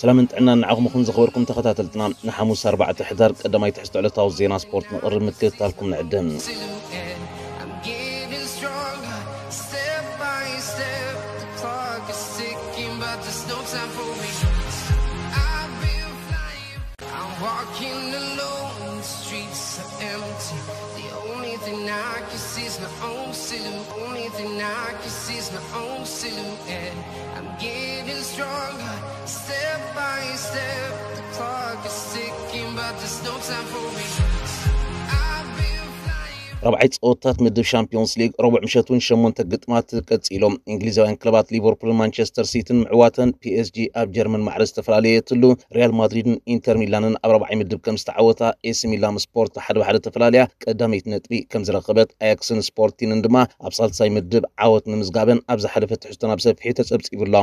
ሰላምን ጥዕናን ንዓኹም ይኹን ዝኸበርኩም ተኸታተልትና። ንሓሙስ ኣርባዕተ ሕዳር ቀዳማይ ትሕዝቶ ዕለታዊ ዜና ስፖርት ንቕርብ፣ ምክትታልኩም ንዕድም። I'm getting stronger, step by step. The clock is ticking, but there's no time for me. I've been flying, I'm walking alone, the streets are empty. The only thing I can see is my own silhouette. Only thing I can see is my own silhouette. I'm getting stronger, step by step. The clock is ticking, but there's no time for me. I've been flying. ራብዓይ ጸወታት ምድብ ሻምፒዮንስ ሊግ ረቡዕ ምሸት እውን ሸሞንተ ግጥማት ቀጺሎም። እንግሊዛውያን ክለባት ሊቨርፑልን ማንቸስተር ሲቲን ምዕዋተን፣ ፒኤስጂ ኣብ ጀርመን ማዕረ ዝተፈላለየትሉ፣ ሪያል ማድሪድን ኢንተር ሚላንን ኣብ ራብዓይ ምድብ ከም ዝተዓወታ፣ ኤሲ ሚላን ስፖርት ሓደ ብሓደ ተፈላለያ ቀዳመይቲ ነጥቢ ከም ዝረኸበት፣ ኣያክስን ስፖርቲንን ድማ ኣብ ሳልሳይ ምድብ ዓወት ምምዝጋበን ኣብ ዝሓለፈ ትሕዝቶና ብሰፊሑ ተጸብጺቡ ኣሎ።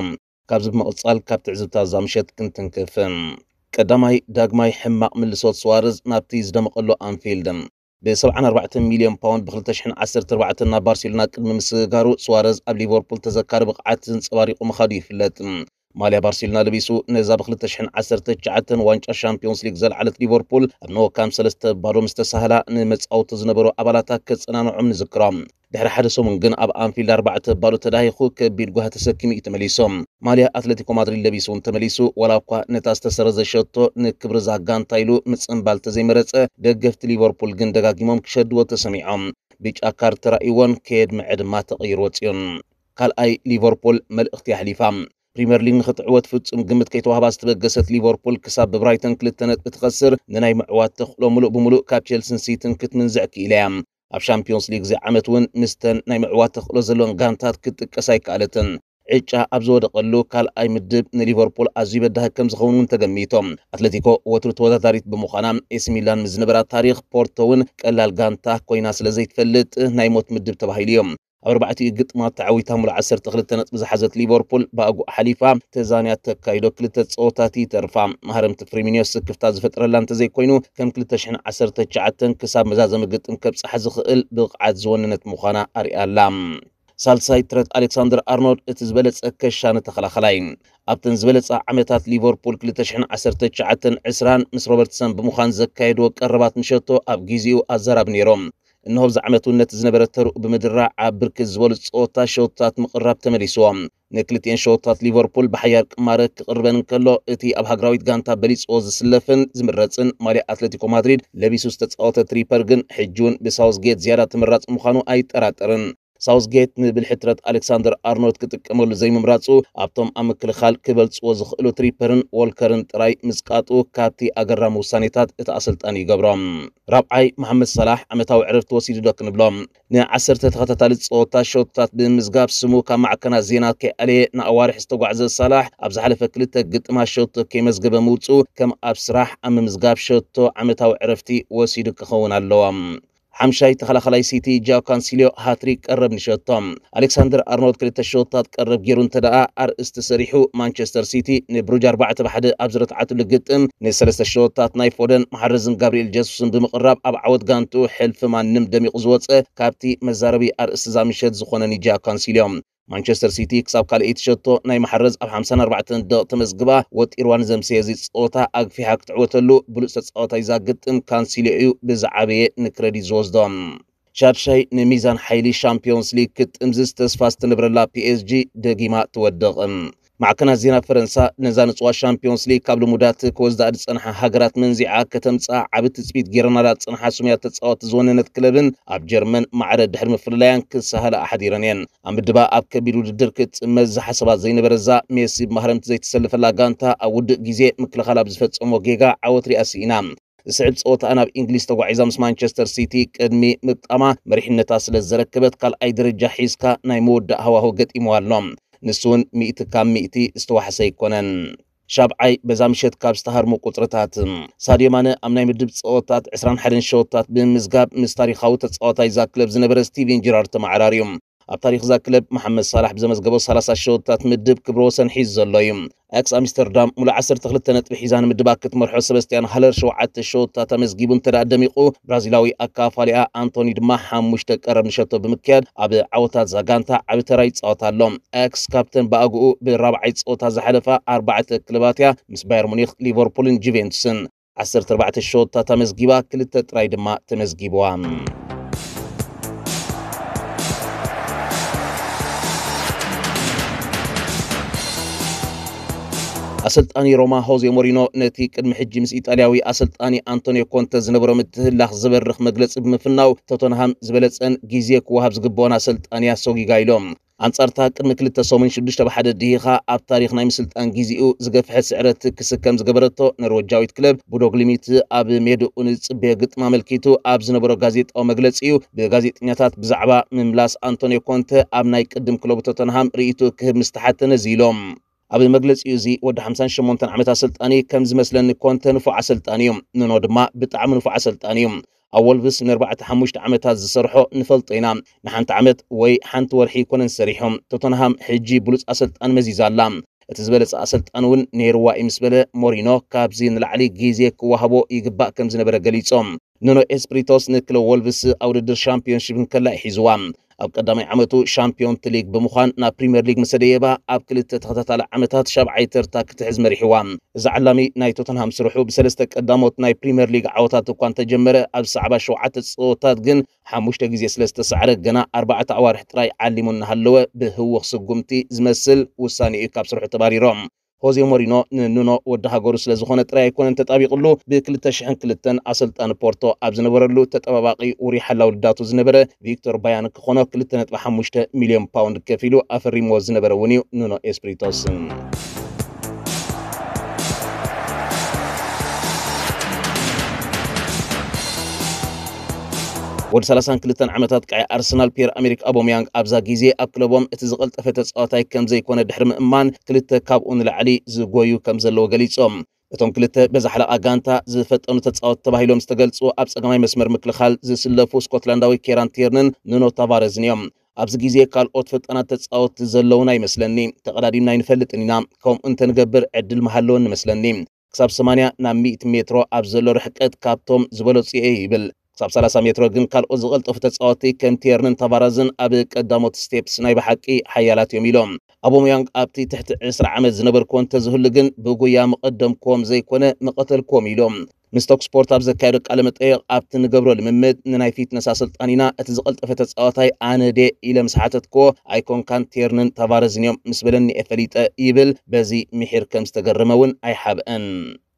ካብዚ ብምቕጻል ካብ ትዕዝብታ እዛ ምሸት ክንትንክፍ። ቀዳማይ ዳግማይ ሕማቕ ምልሶት ስዋረዝ ናብቲ ዝደመቐሉ ኣንፊልድ። ብ74 ሚልዮን ፓውንድ ብ2014 ናብ ባርሴሎና ቅድሚ ምስግጋሩ፣ ስዋረዝ ኣብ ሊቨርፑል ተዘካሪ ብቕዓት ዘንጸባሪቑ ምኻዱ ይፍለጥ። ማልያ ባርሴሎና ለቢሱ ነዛ ብ2019 ዋንጫ ሻምፒዮንስ ሊግ ዘልዓለት ሊቨርፑል ኣብ ኖካም ሰለስተ ባዶ ምስ ተሳህላ፣ ንመጻወቱ ዝነበሩ ኣባላታ ከጸናንዖም ንዝክሮም። ድሕሪ ሓደ ሰሙን ግን ኣብ ኣንፊልድ ኣርባዕተ ባዶ ተዳሂኹ ከቢድ ጓሂ ተሰኪሙ እዩ ተመሊሱ። ማልያ ኣትሌቲኮ ማድሪድ ለቢሱ እውን ተመሊሱ፣ ዋላ እኳ ነታ ዝተሰረዘ ሸቶ ንክብሪ እዛ ጋንታ ኢሉ ምጽንባል ተዘይመረጸ፣ ደገፍቲ ሊቨርፑል ግን ደጋጊሞም ክሸድዎ ተሰሚዖም። ብጫ ካርድ ተራእይዎን ከየድምዐ ድማ ተቐይሩ ወጺኡን። ካልኣይ ሊቨርፑል መልእኽቲ ኣሕሊፋ። ፕሪምየር ሊግ ንኽትዕወት ፍጹም ግምት ከይተዋህባ ዝተበገሰት ሊቨርፑል ክሳብ ብብራይተን ክልተ ነጥቢ ትኸስር ንናይ ምዕዋት ተኽእሎ ምሉእ ብምሉእ ካብ ቸልስን ሲቲን ክትምንዝዕ ክኢላ እያ። ኣብ ሻምፒዮንስ ሊግ እዚ ዓመት እውን ምስተን ናይ ምዕዋት ተኽእሎ ዘለወን ጋንታት ክትጥቀስ ኣይከኣለትን። ዕጫ ኣብ ዝወደቐሉ ካልኣይ ምድብ ንሊቨርፑል ኣዝዩ በዳሂ ከም ዝኸውን እውን ተገሚቶም። ኣትሌቲኮ ወትሩ ተወዳዳሪት ብምዃና፣ ኤሲ ሚላን ምስ ዝነበራ ታሪኽ፣ ፖርቶ እውን ቀላል ጋንታ ኮይና ስለ ዘይትፈልጥ ናይ ሞት ምድብ ተባሂሉ እዩ። ኣብ ኣርባዕቲኡ ግጥማት ተዓዊታ ሙሉእ ዓሰርተ ክልተ ነጥቢ ዝሓዘት ሊቨርፑል ብኣጉኡ ሓሊፋ ተዛንያ ተካይዶ ክልተ ጸወታት ይተርፋ። መሃረምቲ ፍሪሚኒዮ ስክፍታ ዝፈጥረላ እንተዘይኮይኑ፣ ከም ክልተ ሽሕን ዓሰርተ ትሽዓተን ክሳብ መዛዘሚ ግጥም ከብጽሓ ዝኽእል ብቕዓት ዝወነነት ምዃና ኣርያ ኣላ። ሳልሳይ ትረት ኣሌክሳንደር ኣርኖልድ እቲ ዝበለጸ ከሻኒ ተኸላኸላይ። ኣብተን ዝበለጻ ዓመታት ሊቨርፑል ክልተ ሽሕን ዓሰርተ ትሽዓተን ዕስራን ምስ ሮበርትሰን ብምዃን ዘካየድዎ ቀረባት ንሸቶ ኣብ ግዜኡ ኣዘራቢ ነይሮም። እንሆ ኣብዚ ዓመት እውን ነቲ ዝነበረ ተርኡ ብምድራዕ ኣብ ብርክት ዝበሉ ጸወታ ሸቶታት ምቕራብ ተመሊስዎ። ንክልቲኤን ሸቶታት ሊቨርፑል ብሓያል ቅማረ ክቕርበን እንከሎ፣ እቲ ኣብ ሃገራዊት ጋንታ በሊጽዎ ዝስለፍን ዝምረጽን ማልያ ኣትሌቲኮ ማድሪድ ለቢሱ ዝተጻወተ ትሪፐር ግን ሕጂ እውን ብሳውዝጌት ዝያዳ ተመራጺ ምዃኑ ኣይጠራጠርን። ሳውዝጌት ንብልሒ ትረት ኣሌክሳንደር ኣርኖልድ ክጥቀመሉ ዘይምምራጹ ኣብቶም ኣብ ምክልኻል ክበልጽዎ ዝኽእሉ ትሪፐርን ዎልከርን ጥራይ ምጽቃጡ ካብቲ ኣገራሚ ውሳኔታት እቲ ኣሰልጣኒ ይገብሮ። ራብዓይ መሓመድ ሰላሕ ዓመታዊ ዕረፍቲ ወሲዱ ዶ ክንብሎ? ንዓሰርተ ተኸታታሊ ጸወታ ሸቶታት ብምምዝጋብ ስሙ ካብ ማዕከናት ዜና ከይኣለየ ንኣዋርሕ ዝተጓዕዘ ሳላሕ፣ ኣብ ዝሓለፈ ክልተ ግጥማት ሸቶ ከይመዝገበ ምውጽኡ ከም ኣብ ስራሕ ኣብ ምምዝጋብ ሸቶ ዓመታዊ ዕረፍቲ ወሲዱ ክኸውን ኣለዎ። ሓምሻይ ተኸላኸላይ ሲቲ ጃው ካንሲልዮ ሃትሪክ ቀረብ ንሸቶ። ኣሌክሳንደር ኣርኖልድ ክልተ ሸቶታት ቀረብ ገይሩ እንተ ደኣ ኣርእስቲ ሰሪሑ፣ ማንቸስተር ሲቲ ንብሩጅ ኣርባዕተ ብሓደ ኣብ ዝረትዓትሉ ግጥም፣ ንሰለስተ ሸቶታት ናይ ፎደን መሓረዝን ጋብርኤል ጀሱስን ብምቕራብ ኣብ ዓወት ጋንትኡ ሕልፊ ማንም ደሚቑ ዝወጸ፣ ካብቲ መዛረቢ ኣርእስቲ እዛ ምሸት ዝኾነን እዩ ጃው ካንሲልዮ። ማንቸስተር ሲቲ ክሳብ ካልኣይቲ ሸቶ ናይ መሓረዝ ኣብ ሓምሳን ኣርባዕተን ደቕ ተመዝግባ ወጢርዋ ንዘምሰየ እዚ ጸወታ ኣግፊሓ ክትዕወተሉ ብሉጽ ተጻዋታይ እዛ ግጥም ካንሲልዮ እዩ ብዝዓበየ ንክረዲት ዝወስዶ። ሻድሻይ ንሚዛን ሓይሊ ሻምፒዮንስ ሊግ ክትጥምዝዝ ተስፋ ዝተነብረላ ፒኤስጂ ደጊማ ትወድቕ። ማዕከናት ዜና ፈረንሳ ነዛ ንጽዋ ሻምፒዮንስ ሊግ ካብ ልሙዳት ክወስዳ ዝጸንሓ ሃገራት መንዚዓ ከተምጽኣ ዓቢ ትጽቢት ገይረናላ ዝጸንሓ ስሙያት ተጻወቲ ዝወነነት ክለብን ኣብ ጀርመን ማዕረ ድሕሪ ምፍልላያን ክሳሃላ ኣሕዲረን እየን። ኣብ ምድባ ኣብ ከቢድ ውድድር ክትጽመዝ ዝሓሰባ ዘይነበረ እዛ ሜሲ ብማህረምቲ ዘይተሰለፈላ ጋንታ ኣብ ውድእ ግዜ ምክልኻል ኣብ ዝፈጸሞ ጌጋ ዓወት ሪኣ ስኢና። ዝስዕብ ጸወታ ናብ እንግሊዝ ተጓዒዛ ምስ ማንቸስተር ሲቲ ቅድሚ ምግጣማ መሪሕነታ ስለ ዘረከበት ካልኣይ ደረጃ ሒዝካ ናይ መወዳእ ሃዋሁ ገጢምዋ ኣሎ። ንሱ እውን ሚእቲ ካብ ሚእቲ ዝተዋሕሰ ኣይኮነን። ሻብዓይ በዛ ምሸት ካብ ዝተሃርሙ ቁጽርታት፣ ሳድዮ ማነ ኣብ ናይ ምድብ ጸወታት ዕስራን ሓደን ሸወታት ብምምዝጋብ ምስ ታሪኻዊ ተጻዋታይ እዛ ክለብ ዝነበረ ስቲቨን ጀራርድ ተመዓራርዩ። ኣብ ታሪኽ እዛ ክለብ መሓመድ ሳላሕ ብዘመዝገቦ ሰላሳ ሸወታት ምድብ ክብረ ወሰን ሒዙ ዘሎ እዩ። ኣያክስ ኣምስተርዳም ሙሉእ ዓሰርተ ክልተ ነጥቢ ሒዛ ንምድባ ክትመርሖ፣ ሰበስቲያን ሃለር ሸውዓተ ሸወታት ኣመዝጊቡ እንተ ደኣ ደሚቑ፣ ብራዚላዊ ኣካፋሊኣ ኣንቶኒ ድማ ሓሙሽተ ቀረብ ንሸቶ ብምክያድ ኣብ ዓወታት እዛ ጋንታ ዓቢ ተራ ይጻወት ኣሎ። ኣያክስ ካብተን ብኣግኡ ብራብዓይ ጸወታ ዝሓለፋ ኣርባዕተ ክለባት እያ፣ ምስ ባየር ሙኒኽ፣ ሊቨርፑልን ጁቬንቱስን። ዓሰርተ ኣርባዕተ ሸወታት ኣመዝጊባ፣ ክልተ ጥራይ ድማ ተመዝጊብዋ። ኣሰልጣኒ ሮማ ሆዜ ሞሪኖ ነቲ ቅድሚ ሕጂ ምስ ኢጣልያዊ ኣሰልጣኒ ኣንቶኒዮ ኮንተ ዝነበሮ ምትህላኽ ዝበርኽ መግለጺ ብምፍናው፣ ቶተንሃም ዝበለጸን ግዜ ክወሃብ ዝግብኦን ኣሰልጣኒ ኣሰጒጋ ኢሎም። ኣንጻርታ ቅድሚ ክልተ ሰሙን ሽዱሽተ ብሓደ ድሂኻ ኣብ ታሪኽ ናይ ምስልጣን ግዜኡ ዝገፍሐ ስዕረት ክስከም ዝገበረቶ ኖርወጃዊት ክለብ፣ ቡዶ ግሊምት ኣብ ሜድኡ ንዝጽበዮ ግጥም ኣመልኪቱ ኣብ ዝነበሮ ጋዜጣዊ መግለጺኡ፣ ብጋዜጠኛታት ብዛዕባ ምምላስ ኣንቶኒዮ ኮንተ ኣብ ናይ ቅድም ክለቡ ቶተንሃም ርእይትኡ ክህብ ምስ ተሓተ ነዚ ኢሎም። ኣብ መግለጺኡ፣ እዚ ወዲ ሓምሳን ሸሞንተን ዓመት ኣሰልጣኒ ከም ዝመስለኒ ኮንተ ንፉዕ ኣሰልጣኒ እዩ፣ ኑኖ ድማ ብጣዕሚ ንፉዕ ኣሰልጣኒ እዩ። ኣብ ወልቭስ ንኣርባዕተ ሓሙሽተ ዓመታት ዝሰርሖ ንፈልጦ ኢና። ንሓንቲ ዓመት ወይ ሓንቲ ወርሒ ኣይኮነን ሰሪሑ። ቶተንሃም ሕጂ ብሉጽ ኣሰልጣኒ መዚዛ ኣላ። እቲ ዝበለጸ ኣሰልጣኒ እውን ነይርዋ እዩ ምስ በለ፣ ሞሪኖ ካብዚ ንላዕሊ ግዜ ክወሃቦ ይግባእ ከም ዝነበረ ገሊጾም። ኑኖ ኤስፕሪቶስ ንክለብ ወልቭስ ኣብ ውድድር ሻምፒዮንሺፕ እንከላ እዩ ሒዝዋ። ኣብ ቀዳማይ ዓመቱ ሻምፒዮንት ሊግ ብምዃን ናብ ፕሪምየር ሊግ ምስ ደየባ፣ ኣብ ክልተ ተኸታታሊ ዓመታት ሻብዓይ ተርታ ክትሕዝ መሪሕዋ። እዚ ዓላሚ ናይ ቶተንሃም ስርሑ ብሰለስተ ቀዳሞት ናይ ፕሪምየር ሊግ ዓወታት እኳ እንተጀመረ፣ ኣብ ዝሰዕባ ሸውዓተ ጸወታት ግን ሓሙሽተ ግዜ ስለ ዝተሳዕረ፣ ገና ኣርባዕተ ኣዋርሕ ጥራይ ዓሊሙ እናሃለወ፣ ብህውኽ ስጉምቲ ዝመስል ውሳኔ እዩ ካብ ስርሑ ተባሪሮም። ሆዜ ሞሪኖ ንኑኖ ወዲ ሃገሩ ስለ ዝኾነ ጥራይ ኣይኮነን ተጣቢቕሉ። ብ ክልተ ሽሕን ክልተን ኣሰልጣኒ ፖርቶ ኣብ ዝነበረሉ፣ ተጠባባቒ ውሩይ ሓላው ልዳቱ ዝነበረ ቪክቶር ባያን ክኾኖ ክልተ ነጥቢ ሓሙሽተ ሚልዮን ፓውንድ ከፊሉ ኣፈሪምዎ ዝነበረ እውን እዩ ኑኖ ኤስፕሪቶስ። ወዲ ሰላሳን ክልተን ዓመታት ቀይ ኣርሰናል ፒየር ኣሜሪክ ኣቦምያንግ ኣብዛ ግዜ ኣብ ክለቦም እቲ ዝቐልጠፈ ተጻዋታይ ከም ዘይኮነ ድሕሪ ምእማን፣ ክልተ ካብኡ ንላዕሊ ዝጎዩ ከም ዘለዎ ገሊጾም። እቶም ክልተ በዚ ሓለቓ ጋንታ ዝፈጠኑ ተጻወት ተባሂሎም ዝተገልጹ ኣብ ጸጋማይ መስመር ምክልኻል ዝስለፉ ስኮትላንዳዊ ኬራን ቲርንን ኑኖ ታቫረዝን እዮም። ኣብዚ ግዜ ካልኦት ፈጣናት ተጻወትቲ ዘለውን ኣይመስለኒ። ተቐዳዲምና ኣይንፈልጥን ኢና። ከምኡ እንተንገብር ዕድል ምሃለወን ንመስለኒ። ክሳብ ሰማንያ ናብ ሚእቲ ሜትሮ ኣብ ዘሎ ርሕቀት ካብቶም ዝበለጹ እየ ይብል። ክሳብ ሰላሳ ሜትሮ ግን ካልኦት ዝቐልጠፉ ተጻወትቲ ከም ቲየርንን ታቫራዝን ኣብ ቀዳሞት ስቴፕስ ናይ ብሓቂ ሓያላት እዮም ኢሎም። ኣቦምያንግ ኣብቲ ትሕቲ ዕስራ ዓመት ዝነበርኩዎ እንተዝህሉ ግን ብጉያ ምቐደምኩዎም ዘይኮነ ምቐተልኩዎም ኢሎም። ምስ ቶክ ስፖርት ኣብ ዘካየዶ ቃለ መጠየቕ ኣብቲ ንገብሮ ልምምድ ንናይ ፊትነስ ኣሰልጣኒና እቲ ዝቐልጠፈ ተጻዋታይ ኣነ ድየ ኢለ ምስ ሓተትኩዎ ኣይኮንካን ቲየርንን ታቫረዝን እዮም ምስ በለኒ እየ ፈሊጠ ይብል። በዚ ምሒር ከም ዝተገረመ እውን ኣይሓብአን።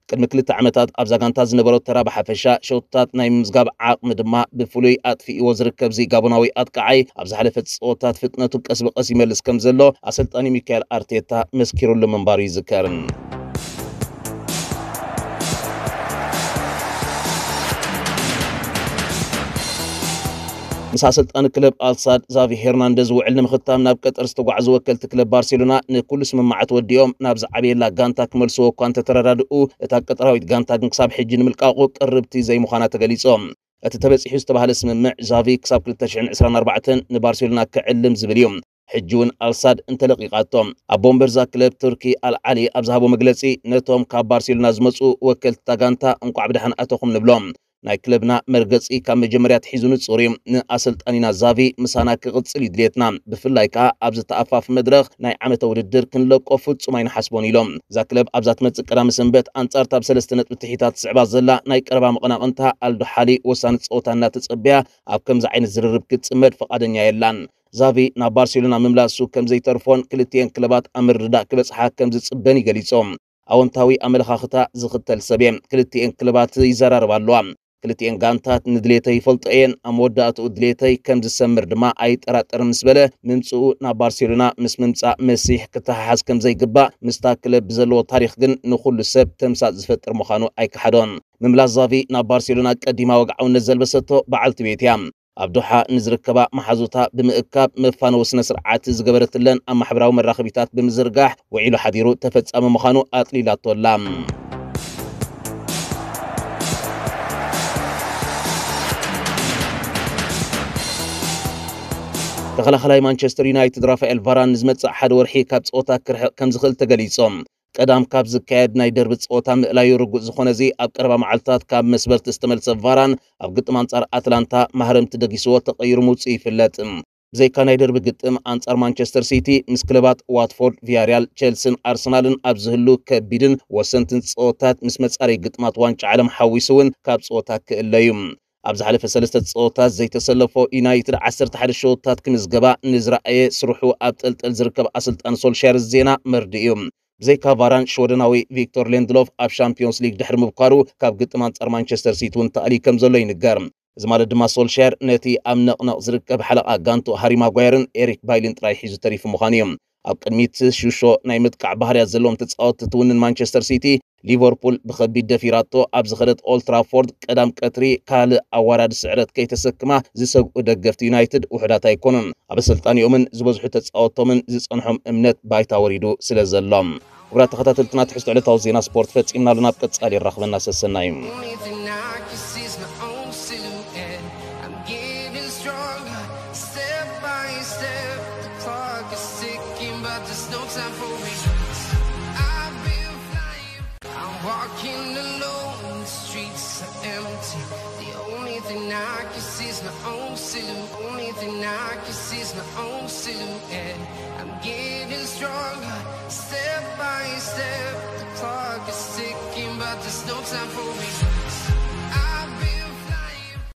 ቅድሚ ክልተ ዓመታት ኣብዛ ጋንታ ዝነበሮ ተራ ብሓፈሻ ሸውታት ናይ ምምዝጋብ ዓቕሚ ድማ ብፍሉይ ኣጥፊእዎ ዝርከብዚ ጋቦናዊ ኣጥቃዓይ ኣብ ዝሓለፈ ጸወታት ፍጥነቱ ቀስ ብቐስ ይመልስ ከም ዘሎ ኣሰልጣኒ ሚካኤል ኣርቴታ መስኪሩሉ ምንባሩ ይዝከር። ምስ ኣሰልጣኒ ክለብ ኣልሳድ ዛቪ ሄርናንደዝ ውዕል ንምኽታም ናብ ቀጠር ዝተጓዕዙ ወከልቲ ክለብ ባርሴሎና ንኩሉ ስምምዓት ወዲኦም ናብ ዝዓበየላ ጋንታ ክመልስዎ እኳ እንተተረዳድኡ፣ እታ ቀጠራዊት ጋንታ ግን ክሳብ ሕጂ ንምልቃቑ ቅርብቲ ዘይምዃና ተገሊጾም። እቲ ተበጺሑ ዝተባህለ ስምምዕ ዛቪ ክሳብ ክልተ ሽሕን ዕስራን ኣርባዕተን ንባርሴሎና ክዕልም ዝብል እዩ። ሕጂ እውን ኣልሳድ እንተለቂቓቶ። ኣቦ ወንበር እዛ ክለብ ቱርኪ ኣልዓሊ ኣብ ዝሃቦ መግለጺ፣ ነቶም ካብ ባርሴሎና ዝመጹ ወከልቲ እታ ጋንታ እንቋዕ ብደሓን ኣተኹም ንብሎም። ናይ ክለብና መርገጺ ካብ መጀመርያ ኣትሒዙ ንጹር እዩ። ንኣሰልጣኒና ዛቪ ምሳና ክቕጽል እዩ ድሌትና። ብፍላይ ከኣ ኣብዚ ተኣፋፊ መድረኽ ናይ ዓመተ ውድድር ክንለቆ ፍጹም ኣይንሓስቦን ኢሎም። እዛ ክለብ ኣብዛ ትመጽእ ቀዳሚ ሰንበት ኣንጻር እታ ብሰለስተ ነጥቢ ትሒታ ትስዕባ ዘላ ናይ ቀረባ መቐናቕንታ ኣልዶ ሓሊ ወሳኒ ጸወታ እናተጸበያ ኣብ ከምዚ ዓይነት ዝርርብ ክትጽመድ ፍቓደኛ የላን። ዛቪ ናብ ባርሴሎና ምምላሱ ከም ዘይተርፎን ክልቲኤን ክለባት ኣብ ምርድዳእ ክበጽሓ ከም ዝጽበን እዩ ገሊጾም። ኣወንታዊ ኣመለኻኽታ ዝኽተል ሰብ እየ። ክልቲኤን ክለባት ይዘራረባ ኣለዋ። ክልቲኤን ጋንታት ንድሌተይ ይፈልጦ እየን። ኣብ መወዳእትኡ ድሌተይ ከም ዝሰምር ድማ ኣይጠራጠርን ምስ በለ፣ ምምጽኡ ናብ ባርሴሎና ምስ ምምጻእ መሲሕ ክተሓሓዝ ከም ዘይግባእ፣ ምስታ ክለብ ብዘለዎ ታሪኽ ግን ንኹሉ ሰብ ተምሳጥ ዝፈጥር ምዃኑ ኣይከሓዶን። ምምላስ ዛቪ ናብ ባርሴሎና ቀዲማ ወግዓውነት ዘልበሰቶ በዓልቲ ቤት እያ። ኣብ ዶሓ ንዝርከባ መሓዙታ ብምእካብ መፋነዊ ስነ ስርዓት ዝገበረትለን ኣብ ማሕበራዊ መራኸቢታት ብምዝርጋሕ ውዒሉ ሓዲሩ ተፈጻሚ ምዃኑ ኣጥሊላቶ ኣላ። ተኸላኸላይ ማንቸስተር ዩናይትድ ራፋኤል ቫራን ንዝመጽእ ሓደ ወርሒ ካብ ጸወታ ክርሕቕ ከም ዝኽእል ተገሊጾም። ቀዳም ካብ ዝካየድ ናይ ደርቢ ጸወታ ምእላዩ ርጉእ ዝኾነ እዚ ኣብ ቀረባ መዓልታት ካብ መስበርቲ ዝተመልሰ ቫራን ኣብ ግጥም ኣንጻር ኣትላንታ ማህረምቲ ደጊስዎ ተቐይሩ ምውጽኡ ይፍለጥ። ብዘይካ ናይ ደርቢ ግጥም ኣንጻር ማንቸስተር ሲቲ ምስ ክለባት ዋትፎርድ፣ ቪያሪያል፣ ቸልስን ኣርሰናልን ኣብ ዝህሉ ከቢድን ወሰንትን ጸወታት ምስ መጻረይ ግጥማት ዋንጫ ዓለም ሓዊሱ እውን ካብ ጸወታ ክእለዩ። ኣብ ዝሓለፈ ሰለስተ ጸወታት ዘይተሰለፎ ዩናይትድ ዓሰርተ ሓደ ሸወታት ክምዝገባ ንዝረኣየ ስርሑ ኣብ ጠልጠል ዝርከብ ኣሰልጣኒ ሶልሻየር ዜና መርድእ እዩ። ብዘይካ ቫራን ሽወደናዊ ቪክቶር ሌንድሎፍ ኣብ ሻምፒዮንስ ሊግ ድሕሪ ምብኳሩ ካብ ግጥም ኣንጻር ማንቸስተር ሲቲ እውን ተኣልዩ ከም ዘሎ ይንገር። እዚ ማለት ድማ ሶልሻየር ነቲ ኣብ ነቕነቕ ዝርከብ ሓለቓ ጋንቱ ሃሪ ማጓየርን ኤሪክ ባይልን ጥራይ ሒዙ ተሪፉ ምዃኑ እዩ። ኣብ ቅድሚት ሹሾ ናይ ምጥቃዕ ባህርያት ዘለዎም ተጻወትቲ ትውንን ማንቸስተር ሲቲ ሊቨርፑል ብኸቢድ ደፊራቶ ኣብ ዝኸደት ኦልትራፎርድ ቀዳም ቀትሪ ካልእ ኣዋራዲ ስዕረት ከይተሰክማ ዝሰግኡ ደገፍቲ ዩናይትድ ውሑዳት ኣይኮኑን። ኣብ ኣሰልጣኒኦምን ዝበዝሑ ተጻወቶምን ዝጸንሖም እምነት ባይታ ወሪዱ ስለ ዘሎ። ክቡራት ተኸታተልትና ትሕዝቶ ዕለታዊ ዜና ስፖርት ፈጺምና ኣለና። ኣብ ቀጻሊ የራኽበና ሰሰናዩ። Only thing I can see is my own silhouette. I'm getting stronger, step by step. The clock is ticking, but there's no time for regrets. I've been flying, I'm walking alone, the streets are empty. The only thing I can see is my own silhouette. Only thing I can see is my own silhouette. I'm getting stronger, step by step. The clock is ticking, but there's no time for regrets.